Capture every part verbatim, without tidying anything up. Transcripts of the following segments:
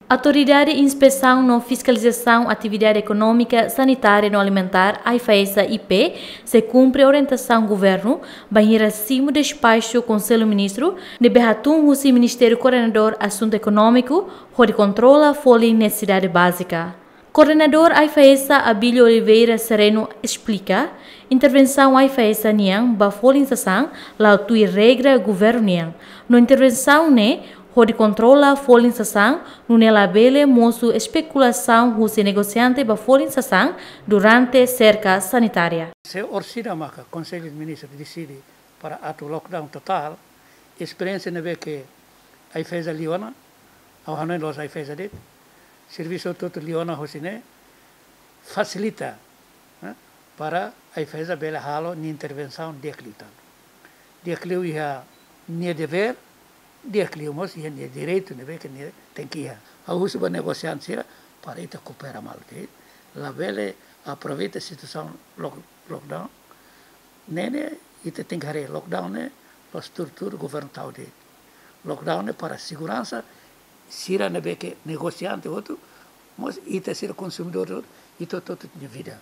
Autoridade Inspesaun no Fiskalizasaun Atividade Ekonómika, Sanitária no Alimentár, AIFAESA I P, sei kumpre orientasaun governu bainhira simu despaxu Konsellu Ministru ne'ebé hatún husi Ministériu Koordenadór Asuntu Ekonómiku hodi kontrola folin nesesidade bázika. Koordenadór AIFAESA, Abílio Oliveira Sereno, esplika, intervensaun AIFAESA nian ba folin sasán la'o tuir regra governu nian. No intervensaun ne'e hodi kontrola folin sasán, nune'e labele mosu espekulasaun husi negosiante ba folin sasán durante serka sanitária. Se orsida maka Konsellu Ministru deside para atu lockdown totál, esperiénsia ne'ebé ke AIFAESA liu ona, ha'u hanoin la'ós AIFAESA de'it, servisu hotu-hotu liu ona hosi ne'e, fasilita, eh, para AIFAESA bele halo nia intervensaun di'ak liután. Di'ak liu iha nia devér, di'ak liu mós iha nia direitu ne'ebé ke nia tenke iha. Ha'u husu ba negosiante sira para ita koopera malu de'it. Labele aproveita situasaun lock-, lockdown. Ne'e ne'e ita tenke haree lockdown ne'e la'ós tuur-tuur governu tau de'it. Lockdown ne'e para seguransa sira ne'ebé ke negosiante hotu, mós ita sira konsumidór hotu, ita hotu-hotu nia vida.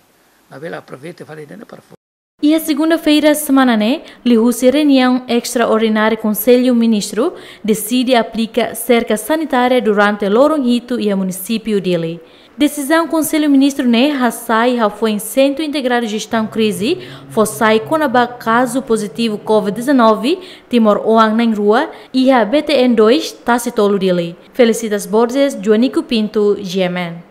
Labele aproveita fali ne'e para fo- Iha segunda-feira semana ne'e, liuhusi reuniaun estraordinária Konsellu Ministru deside aplika serka sanitária durante loron hitu iha munisípiu Dili. Desizaun Konsellu Ministru ne'e hasai hafoin Sentru Integradu Jestaun Krize fó sai kona-ba kazu pozitivu covid dezanove timoroan na'in-rua iha B T N dois Tasi Tolu Dili. Felicitas Borges, Joanico Pinto, G M N.